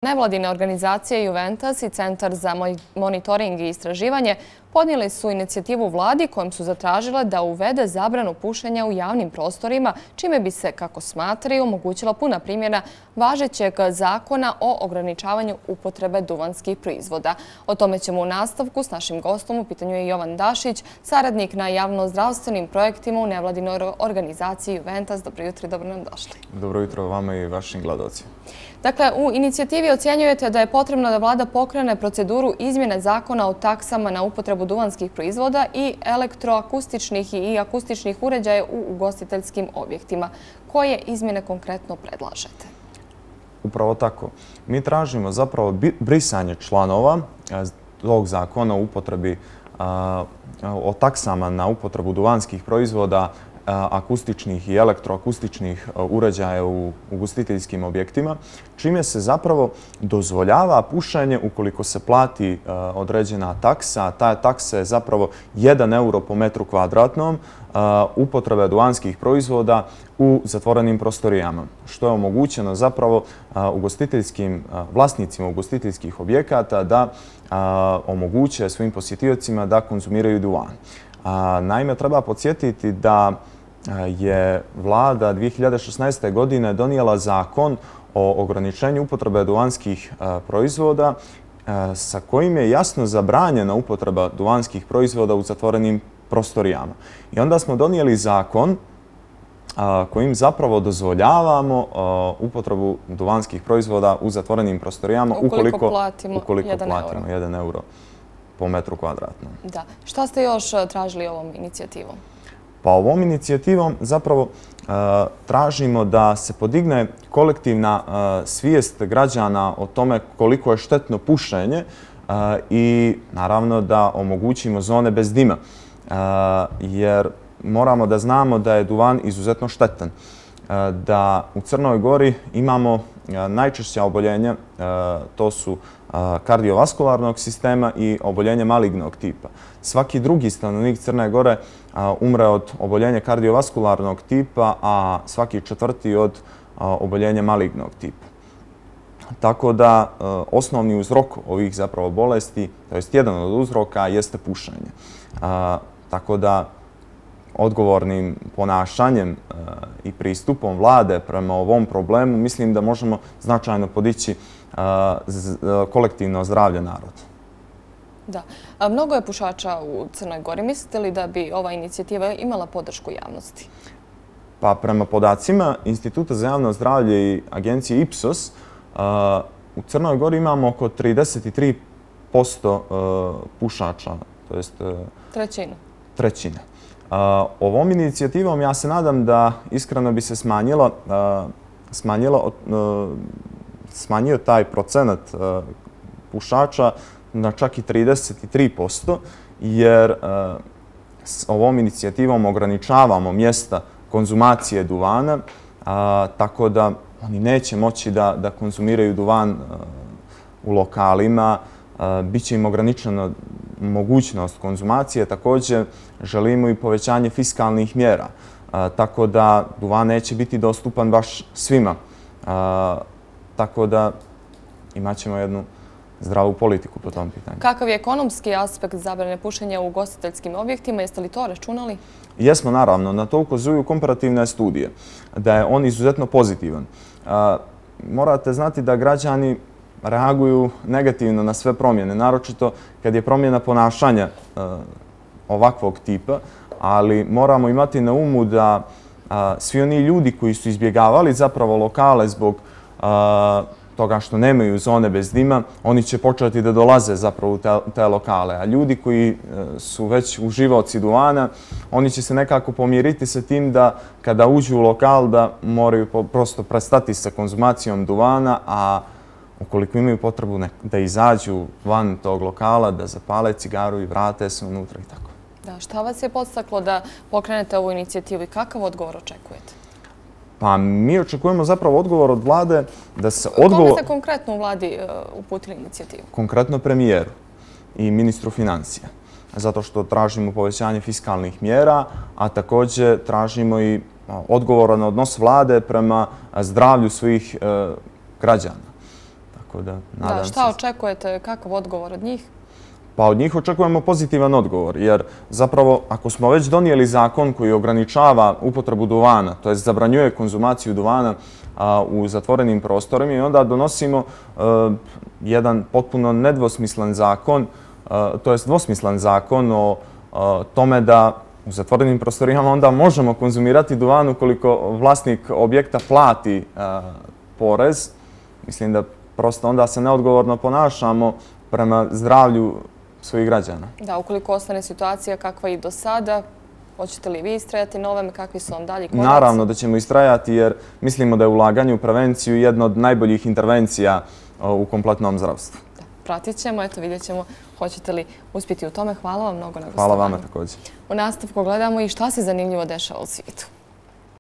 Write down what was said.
Nevladine organizacije Juventus i Centar za monitoring i istraživanje podnijeli su inicijativu vladi kojom su zatražile da uvede zabranu pušenja u javnim prostorima, čime bi se, kako smatraju, omogućila puna primjena važećeg zakona o ograničavanju upotrebe duvanskih proizvoda. O tome ćemo u nastavku s našim gostom. U pitanju je Jovan Dašić, saradnik na javno-zdravstvenim projektima u nevladinoj organizaciji Juventus. Dobro jutro i dobro nam došli. Dobro jutro vama i vašim gledalcima. Dakle, u inicijativi ocjenjujete da je potrebno da vlada pokrene proceduru izmjene zakona o taksama na upotrebu duvanskih proizvoda i elektroakustičnih i akustičnih uređaja u ugostiteljskim objektima. Koje izmjene konkretno predlažete? Upravo tako. Mi tražimo zapravo brisanje članova tog zakona o upotrebi o taksama na upotrebu duvanskih proizvoda, akustičnih i elektroakustičnih uređaja u ugostiteljskim objektima, čime se zapravo dozvoljava pušenje ukoliko se plati određena taksa. Ta taksa je zapravo 1 euro po metru kvadratnom upotrebe duvanskih proizvoda u zatvorenim prostorijama, što je omogućeno zapravo vlasnicima ugostiteljskih objekata da omoguće svojim posjetiocima da konzumiraju duvan. Naime, treba podsjetiti da je vlada 2016. godine donijela zakon o ograničenju upotrebe duvanskih proizvoda sa kojim je jasno zabranjena upotreba duvanskih proizvoda u zatvorenim prostorijama. I onda smo donijeli zakon kojim zapravo dozvoljavamo upotrebu duvanskih proizvoda u zatvorenim prostorijama ukoliko platimo 1 euro po metru kvadratnom. Da. Šta ste još tražili ovom inicijativom? Pa ovom inicijativom zapravo tražimo da se podigne kolektivna svijest građana o tome koliko je štetno pušenje i naravno da omogućimo zone bez dima. Jer moramo da znamo da je duvan izuzetno štetan. Da u Crnoj Gori imamo najčešća oboljenja, to su kardiovaskularnog sistema i oboljenje malignog tipa. Svaki drugi stanovnik Crne Gore umre od oboljenja kardiovaskularnog tipa, a svaki četvrti od oboljenja malignog tipa. Tako da osnovni uzrok ovih zapravo bolesti, to jest jedan od uzroka, jeste pušenje. Tako da odgovornim ponašanjem i pristupom vlade prema ovom problemu mislim da možemo značajno podići kolektivno zdravlje naroda. Da. Mnogo je pušača u Crnoj Gori. Mislite li da bi ova inicijativa imala podršku javnosti? Pa prema podacima Instituta za javno zdravlje i agencije Ipsos, u Crnoj Gori imamo oko 33% pušača, to jest trećina. Ovom inicijativom ja se nadam da iskreno bi se smanjio taj procenat pušača na čak i 33%, jer s ovom inicijativom ograničavamo mjesta konzumacije duvana, tako da oni neće moći da konzumiraju duvan u lokalima. Biće im ograničena mogućnost konzumacije. Također želimo i povećanje fiskalnih mjera, tako da duvan neće biti dostupan baš svima. Tako da imat ćemo jednu zdravu politiku po tom pitanju. Kakav je ekonomski aspekt zabrane pušenja u ugostiteljskim objektima? Jeste li to računali? Jesmo, naravno. Na to ukazuju komparativne studije, da je on izuzetno pozitivan. Morate znati da građani reaguju negativno na sve promjene, naročito kad je promjena ponašanja ovakvog tipa, ali moramo imati na umu da svi oni ljudi koji su izbjegavali zapravo lokale zbog toga što nemaju zone bez dima, oni će početi da dolaze zapravo u te lokale. A ljudi koji su već uživaoci duvana, oni će se nekako pomiriti sa tim da kada uđu u lokal da moraju prosto prestati sa konzumacijom duvana, a ukoliko imaju potrebu da izađu van tog lokala, da zapale cigaru i vrate se unutra i tako. Da, šta vas je podstaklo da pokrenete ovu inicijativu i kakav odgovor očekujete? Pa mi očekujemo zapravo odgovor od vlade da se Kome ste konkretno u vladi uputili inicijativu? Konkretno premijeru i ministru financija. Zato što tražimo povećanje fiskalnih mjera, a također tražimo i odgovoran odnos vlade prema zdravlju svojih građana. Tako da, nadam se. Šta očekujete, kakav odgovor od njih? Pa od njih očekujemo pozitivan odgovor, jer zapravo ako smo već donijeli zakon koji ograničava upotrebu duvana, to jest zabranjuje konzumaciju duvana u zatvorenim prostorima i onda donosimo jedan potpuno nedvosmislen zakon, to jest dvosmislen zakon o tome da u zatvorenim prostorijama onda možemo konzumirati duvan ukoliko vlasnik objekta plati porez. Mislim da prosto onda se neodgovorno ponašamo prema zdravlju svojih građana. Da, ukoliko ostane situacija kakva i do sada, hoćete li vi istrajati na ovome, kakvi su vam dalji koraci? Naravno da ćemo istrajati jer mislimo da je ulaganje u prevenciju jedna od najboljih intervencija u kompletnom zdravstvu. Pratit ćemo, eto vidjet ćemo hoćete li uspjeti u tome. Hvala vam mnogo na gostovanju. Hvala vama također. U nastavku gledamo i šta se zanimljivo dešava u svijetu.